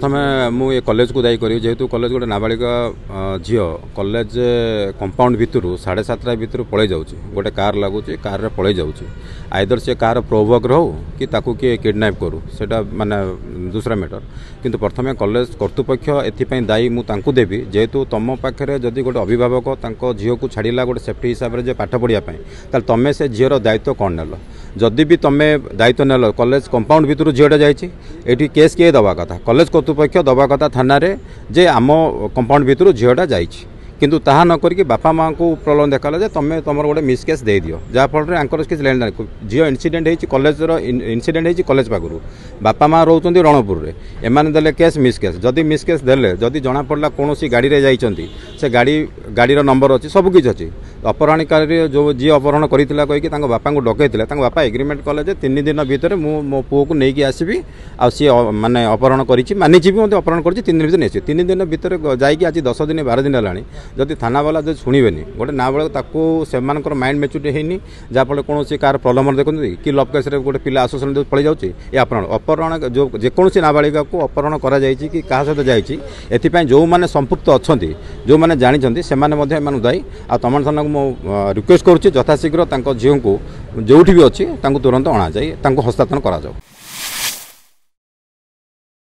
ପ୍ରଥମେ ମୁଁ ଏ କଲେଜକୁ ଦାୟୀ କରିବି, ଯେହେତୁ କଲେଜ ଗୋଟେ ନାବାଳିକା ଝିଅ କଲେଜ କମ୍ପାଉଣ୍ଡ ଭିତରୁ 7:30 ଭିତରୁ ପଳେଇ ଯାଉଛି, ଗୋଟେ କାର୍ ଲାଗୁଛି, କାର୍ରେ ପଳେଇ ଯାଉଛି। ଆଇଦର ସେ କାହାର ପ୍ରୋଭୋକର ହଉ କି ତାକୁ କିଏ କିଡ଼ନାପ୍ କରୁ, ସେଇଟା ମାନେ ଦୁସରା ମ୍ୟାଟର। କିନ୍ତୁ ପ୍ରଥମେ କଲେଜ କର୍ତ୍ତୃପକ୍ଷ ଏଥିପାଇଁ ଦାୟୀ ମୁଁ ତାଙ୍କୁ ଦେବି, ଯେହେତୁ ତୁମ ପାଖରେ ଯଦି ଗୋଟେ ଅଭିଭାବକ ତାଙ୍କ ଝିଅକୁ ଛାଡ଼ିଲା ଗୋଟେ ସେଫ୍ଟି ହିସାବରେ ଯେ ପାଠ ପଢ଼ିବା ପାଇଁ, ତାହେଲେ ତୁମେ ସେ ଝିଅର ଦାୟିତ୍ୱ କ'ଣ ନେଲ? ଯଦି ବି ତୁମେ ଦାୟିତ୍ୱ ନେଲ, କଲେଜ କମ୍ପାଉଣ୍ଡ ଭିତରୁ ଝିଅଟା ଯାଇଛି, ଏଠି କେସ୍ କିଏ ଦେବା କଥା? କଲେଜ କର୍ତ୍ତୃପକ୍ଷ ଦେବା କଥା ଥାନାରେ ଯେ ଆମ କମ୍ପାଉଣ୍ଡ ଭିତରୁ ଝିଅଟା ଯାଇଛି। କିନ୍ତୁ ତାହା ନ କରିକି ବାପା ମାଆଙ୍କୁ ପ୍ରଲୋଭନ ଦେଖାଲା ଯେ ତୁମେ ତୁମର ଗୋଟେ ମିସ୍ କେସ୍ ଦେଇଦିଅ, ଯାହାଫଳରେ ଆଙ୍କର କିଛି ଲେଣ ଦେଣ। ଝିଅ ଇନସିଡେଣ୍ଟ ହେଇଛି କଲେଜର, ଇନସିଡେଣ୍ଟ ହେଇଛି କଲେଜ ପାଖରୁ, ବାପା ମା ରହୁଛନ୍ତି ରଣପୁରରେ, ଏମାନେ ଦେଲେ କେସ୍ ମିସ୍ କେସ୍। ଯଦି ମିସ୍ କେସ୍ ଦେଲେ, ଯଦି ଜଣାପଡ଼ିଲା କୌଣସି ଗାଡ଼ିରେ ଯାଇଛନ୍ତି, ସେ ଗାଡ଼ି, ଗାଡ଼ିର ନମ୍ବର ଅଛି, ସବୁ କିଛି ଅଛି। ଅପହରଣକାରୀ ଯେଉଁ ଯିଏ ଅପହରଣ କରିଥିଲା କହିକି ତାଙ୍କ ବାପାଙ୍କୁ ଡକେଇଥିଲେ, ତାଙ୍କ ବାପା ଏଗ୍ରିମେଣ୍ଟ କଲେ ଯେ 3 ଦିନ ଭିତରେ ମୁଁ ମୋ ପୁଅକୁ ନେଇକି ଆସିବି, ଆଉ ସିଏ ମାନେ ଅପହରଣ କରିଛି, ମାନିଛି ବି ମଧ୍ୟ ଅପହରଣ କରିଛି, 3 ଦିନ ଭିତରେ ନେଇଛି। 3 ଦିନ ଭିତରେ ଯାଇକି ଆଜି 10 ଦିନ 12 ଦିନ ହେଲାଣି, ଯଦି ଥାନାବାଲା ଯଦି ଶୁଣିବେନି ଗୋଟେ ନାବାଳକ, ତାକୁ ସେମାନଙ୍କର ମାଇଣ୍ଡ ମେଚୁରିଟି ହେଇନି, ଯାହାଫଳରେ କୌଣସି କାହାର ପ୍ରଲୋଭନ ଦେଖନ୍ତି କି ଲଭ୍ କେସ୍ରେ ଗୋଟେ ପିଲା ଆସୋସିଏସନ୍ ପଳେଇ ଯାଉଛି। ଏ ଅପହରଣ ଯେଉଁ ଯେକୌଣସି ନାବାଳିକାକୁ ଅପହରଣ କରାଯାଇଛି କି କାହା ସହିତ ଯାଇଛି, ଏଥିପାଇଁ ଯେଉଁମାନେ ସମ୍ପୃକ୍ତ ଅଛନ୍ତି, ଯେଉଁମାନେ ଜାଣିଛନ୍ତି, ସେମାନେ ମଧ୍ୟ ଏମାନଙ୍କୁ ଦାୟୀ। ଆଉ ତମଣ ଥାନାକୁ ମୁଁ ରିକ୍ୱେଷ୍ଟ କରୁଛି, ଯଥାଶୀଘ୍ର ତାଙ୍କ ଝିଅଙ୍କୁ ଯେଉଁଠି ବି ଅଛି ତାଙ୍କୁ ତୁରନ୍ତ ଅଣାଯାଇ ତାଙ୍କୁ ହସ୍ତାନ୍ତର କରାଯାଉ।